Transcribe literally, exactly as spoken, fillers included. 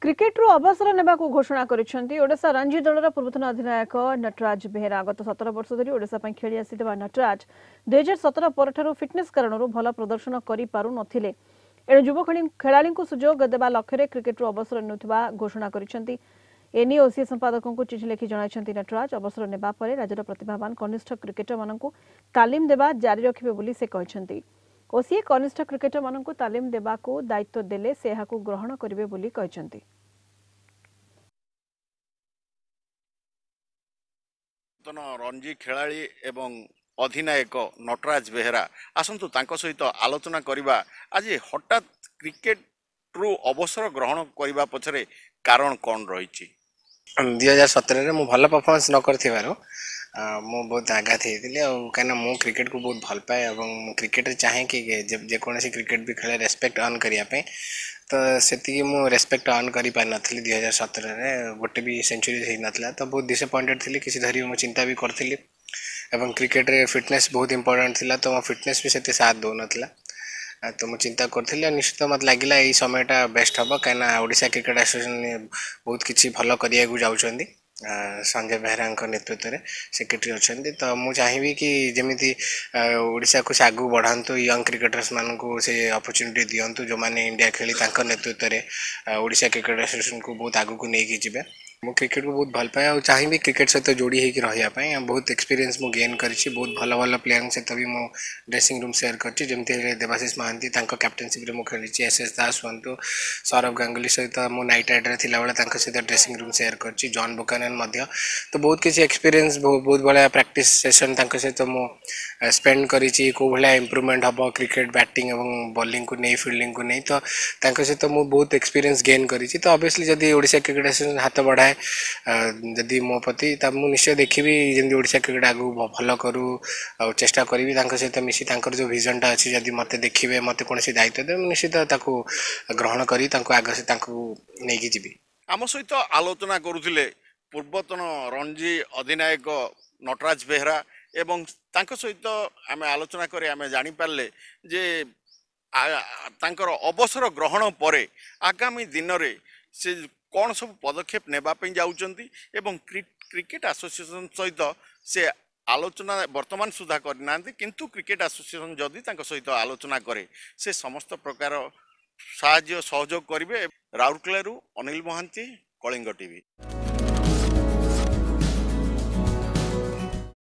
କ୍ରିକେଟରୁ ଅବସର ନେବାକୁ ଘୋଷଣା କରିଛନ୍ତି ଓଡ଼ିଶା ରଞ୍ଜି ଦଳର ପୂର୍ବତନ ଅଧିନାୟକ ନଟରାଜ ବେହେରା। ଗତ ସତର ବର୍ଷ ଧରି ଓଡ଼ିଶା ପାଇଁ ଖେଳି ଆସିଥିବା ନଟରାଜ ଦୁଇହଜାର ସତର ପରଠାରୁ ଫିଟନେସ୍ କାରଣରୁ ଭଲ ପ୍ରଦର୍ଶନ କରିପାରୁନଥିଲେ। ଏଣୁ ଯୁବ ଖେଳାଳିଙ୍କୁ ସୁଯୋଗ ଦେବା ଲକ୍ଷ୍ୟରେ କ୍ରିକେଟରୁ ଅବସର ନେଉଥିବା ଘୋଷଣା କରିଛନ୍ତି। ଏନେଇ ଓସିଏ ସମ୍ପାଦକଙ୍କୁ ଚିଠି ଲେଖି ଜଣାଇଛନ୍ତି ନଟରାଜ। ଅବସର ନେବା ପରେ ରାଜ୍ୟର ପ୍ରତିଭାବାନ କନିଷ୍ଠ କ୍ରିକେଟରମାନଙ୍କୁ ତାଲିମ ଦେବା ଜାରି ରଖିବେ ବୋଲି ସେ କହିଛନ୍ତି। ଓସିଏ କନିଷ୍ଠ କ୍ରିକେଟରମାନଙ୍କୁ ତାଲିମ ଦେବାକୁ ଦାୟିତ୍ୱ ଦେଲେ ସେ ଏହାକୁ ଗ୍ରହଣ କରିବେ ବୋଲି କହିଛନ୍ତି। ପୂର୍ବତନ ରଣଜୀ ଖେଳାଳି ଏବଂ ଅଧିନାୟକ ନଟରାଜ ବେହେରା, ଆସନ୍ତୁ ତାଙ୍କ ସହିତ ଆଲୋଚନା କରିବା। ଆଜି ହଠାତ୍ କ୍ରିକେଟରୁ ଅବସର ଗ୍ରହଣ କରିବା ପଛରେ କାରଣ କ'ଣ ରହିଛି? ଦୁଇ ହଜାର ସତରରେ ମୁଁ ଭଲ ପରଫର୍ମାନ୍ସ ନ କରିଥିବାରୁ ମୁଁ ବହୁତ ଆଘାତ ହେଇଥିଲି, ଆଉ କାହିଁକିନା ମୁଁ କ୍ରିକେଟକୁ ବହୁତ ଭଲ ପାଏ ଏବଂ ମୁଁ କ୍ରିକେଟରେ ଚାହେଁ କି ଯେକୌଣସି କ୍ରିକେଟ ବି ଖେଳେ ରେସପେକ୍ଟ ଅର୍ନ କରିବା ପାଇଁ। ତ ସେତିକି ମୁଁ ରେସପେକ୍ଟ ଅର୍ନ କରିପାରିନଥିଲି। ଦୁଇ ହଜାର ସତରରେ ଗୋଟେ ବି ସେଞ୍ଚୁରୀ ହେଇନଥିଲା, ତ ବହୁତ ଡିସଆପଏଣ୍ଟେଡ଼ ଥିଲି। କିଛି ଧରି ମୁଁ ଚିନ୍ତା ବି କରିଥିଲି ଏବଂ କ୍ରିକେଟରେ ଫିଟନେସ୍ ବହୁତ ଇମ୍ପୋର୍ଟାଣ୍ଟ ଥିଲା, ତ ମୋ ଫିଟନେସ୍ ବି ସେତେ ସାଥ ଦେଉନଥିଲା। ତ ମୁଁ ଚିନ୍ତା କରିଥିଲି ଆଉ ନିଶ୍ଚିତ ମୋତେ ଲାଗିଲା ଏଇ ସମୟଟା ବେଷ୍ଟ ହେବ, କାହିଁକିନା ଓଡ଼ିଶା କ୍ରିକେଟ ଆସୋସିଏସନ୍ ବହୁତ କିଛି ଭଲ କରିବାକୁ ଯାଉଛନ୍ତି। ସଞ୍ଜୟ ବେହେରାଙ୍କ ନେତୃତ୍ୱରେ ସେକ୍ରେଟାରୀ ଅଛନ୍ତି, ତ ମୁଁ ଚାହିଁବି କି ଯେମିତି ଓଡ଼ିଶାକୁ ସେ ଆଗକୁ ବଢ଼ାନ୍ତୁ, ୟଙ୍ଗ କ୍ରିକେଟର୍ସମାନଙ୍କୁ ସେ ଅପରଚ୍ୟୁନିଟି ଦିଅନ୍ତୁ ଯେଉଁମାନେ ଇଣ୍ଡିଆ ଖେଳି ତାଙ୍କ ନେତୃତ୍ୱରେ ଓଡ଼ିଶା କ୍ରିକେଟ ଆସୋସିଏସନ୍କୁ ବହୁତ ଆଗକୁ ନେଇକି ଯିବେ। ମୁଁ କ୍ରିକେଟକୁ ବହୁତ ଭଲ ପାଏ ଆଉ ଚାହିଁବି କ୍ରିକେଟ ସହିତ ଯୋଡ଼ି ହେଇକି ରହିବା ପାଇଁ। ଆଉ ବହୁତ ଏକ୍ସପିରିଏନ୍ସ ମୁଁ ଗେନ୍ କରିଛି, ବହୁତ ଭଲ ଭଲ ପ୍ଲେୟାରଙ୍କ ସହିତ ବି ମୁଁ ଡ୍ରେସିଂ ରୁମ୍ ସେୟାର କରିଛି। ଯେମିତି ହେଲେ ଦେବାଶିଷ ମହାନ୍ତି, ତାଙ୍କ କ୍ୟାପ୍ଟେନସିପ୍ରେ ମୁଁ ଖେଳିଛି। ଏସ୍ ଏସ୍ ଦାସ ହୁଅନ୍ତୁ, ସୌରଭ ଗାଙ୍ଗୁଲି ସହିତ ମୁଁ ନାଇଟ୍ ରାଇଡରରେ ଥିଲାବେଳେ ତାଙ୍କ ସହିତ ଡ୍ରେସିଂ ରୁମ୍ ସେୟାର କରିଛି। ଜନ୍ ବୁକାନନ୍ ମଧ୍ୟ। ତ ବହୁତ କିଛି ଏକ୍ସପିରିଏନ୍ସ, ବହୁତ ଭଳିଆ ପ୍ରାକ୍ଟିସ୍ ସେସନ୍ ତାଙ୍କ ସହିତ ମୁଁ ସ୍ପେଣ୍ଡ କରିଛି, କେଉଁ ଭଳିଆ ଇମ୍ପ୍ରୁଭମେଣ୍ଟ ହେବ କ୍ରିକେଟ ବ୍ୟାଟିଂ ଏବଂ ବୋଲିଂକୁ ନେଇ, ଫିଲ୍ଡିଂକୁ ନେଇ। ତ ତାଙ୍କ ସହିତ ମୁଁ ବହୁତ ଏକ୍ସପିରିଏନ୍ସ ଗେନ୍ କରିଛି। ତ ଅବଭିୟସଲି ଯଦି ଓଡ଼ିଶା କ୍ରିକେଟ ଆସୋସିଏସନ୍ ହାତ ବଢ଼ାଏ ଯଦି ମୋ ପ୍ରତି, ତା ମୁଁ ନିଶ୍ଚୟ ଦେଖିବି ଯେମିତି ଓଡ଼ିଶା କ୍ରିକେଟ ଆଗକୁ ଭଲ କରୁ, ଆଉ ଚେଷ୍ଟା କରିବି ତାଙ୍କ ସହିତ ମିଶି ତାଙ୍କର ଯେଉଁ ଭିଜନଟା ଅଛି। ଯଦି ମୋତେ ଦେଖିବେ, ମୋତେ କୌଣସି ଦାୟିତ୍ୱ ଦେବେ, ମୁଁ ନିଶ୍ଚିତ ତାକୁ ଗ୍ରହଣ କରି ତାଙ୍କୁ ଆଗ ତାଙ୍କୁ ନେଇକି ଯିବି। ଆମ ସହିତ ଆଲୋଚନା କରୁଥିଲେ ପୂର୍ବତନ ରଣଜୀ ଅଧିନାୟକ ନଟରାଜ ବେହେରା ଏବଂ ତାଙ୍କ ସହିତ ଆମେ ଆଲୋଚନା କରି ଆମେ ଜାଣିପାରିଲେ ଯେ ତାଙ୍କର ଅବସର ଗ୍ରହଣ ପରେ ଆଗାମୀ ଦିନରେ ସେ କ'ଣ ସବୁ ପଦକ୍ଷେପ ନେବା ପାଇଁ ଯାଉଛନ୍ତି ଏବଂ କ୍ରିକେଟ ଆସୋସିଏସନ୍ ସହିତ ସେ ଆଲୋଚନା ବର୍ତ୍ତମାନ ସୁଦ୍ଧା କରିନାହାନ୍ତି, କିନ୍ତୁ କ୍ରିକେଟ ଆସୋସିଏସନ୍ ଯଦି ତାଙ୍କ ସହିତ ଆଲୋଚନା କରେ ସେ ସମସ୍ତ ପ୍ରକାର ସାହାଯ୍ୟ ସହଯୋଗ କରିବେ। ରାଉରକେଲାରୁ ଅନିଲ ମହାନ୍ତି, କଳିଙ୍ଗ ଟିଭି।